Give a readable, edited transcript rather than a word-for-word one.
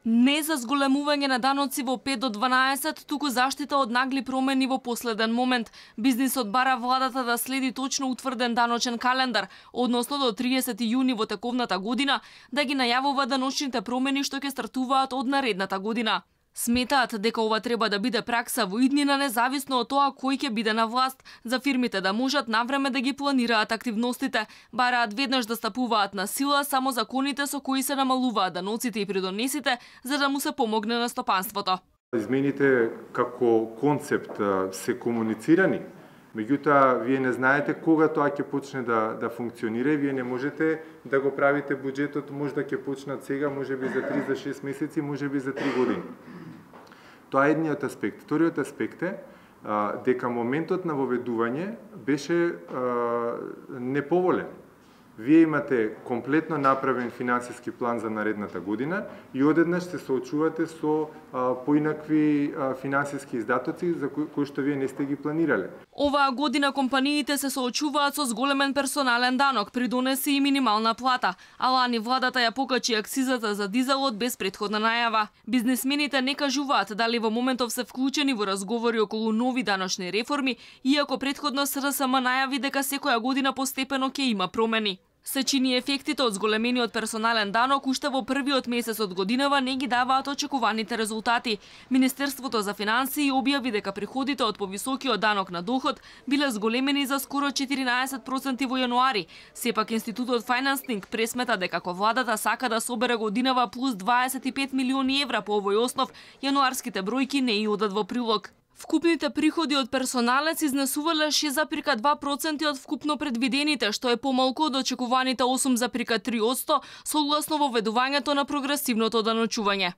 Не за зголемување на даноци во 5 до 12, туку заштита од нагли промени во последен момент. Бизнисот бара владата да следи точно утврден даночен календар, односно до 30 јуни во тековната година, да ги најавува даночните промени што ќе стартуваат од наредната година. Сметаат дека ова треба да биде пракса во иднина независно од тоа кој ќе биде на власт, за фирмите да можат навреме да ги планираат активностите, бараат веднаш да стапуваат на сила само законите со кои се намалуваат даноците и придонесите, за да му се помогне на стопанството. Измените како концепт се комуницирани, меѓутоа вие не знаете кога тоа ќе почне да функционира и вие не можете да го правите буџетот, може да ќе почнат сега, можеби за 3 за 6 месеци, можеби за 3 години. Тоа е едниот аспект. Вториот аспект е дека моментот на воведување беше неповолен. Вие имате комплетно направен финансиски план за наредната година и одеднаш се соочувате со поинакви финансиски издатоци за кои што вие не сте ги планирале. Оваа година компаниите се соочуваат со зголемен персонален данок, придонеси и минимална плата, а лани владата ја покачи акцизата за дизелот без претходна најава. Бизнисмените не кажуваат дали во моментов се вклучени во разговори околу нови даночни реформи, иако претходно СРСМ најави дека секоја година постепено ќе има промени. Се чини ефектите од зголемениот персонален данок уште во првиот месец од годинава не ги даваат очекуваните резултати. Министерството за финансии објави дека приходите од повисокиот данок на доход биле зголемени за скоро 14% во јануари. Сепак Институтот Financing пресмета дека ако владата сака да собере годинава плюс 25 милиони евра по овој основ, јануарските бројки не и одат во прилог. Вкупните приходи од персоналец изнесувале 6,2% од вкупно предвидените, што е помалку од очекуваните 8,3% согласно воведувањето на прогресивното даночување.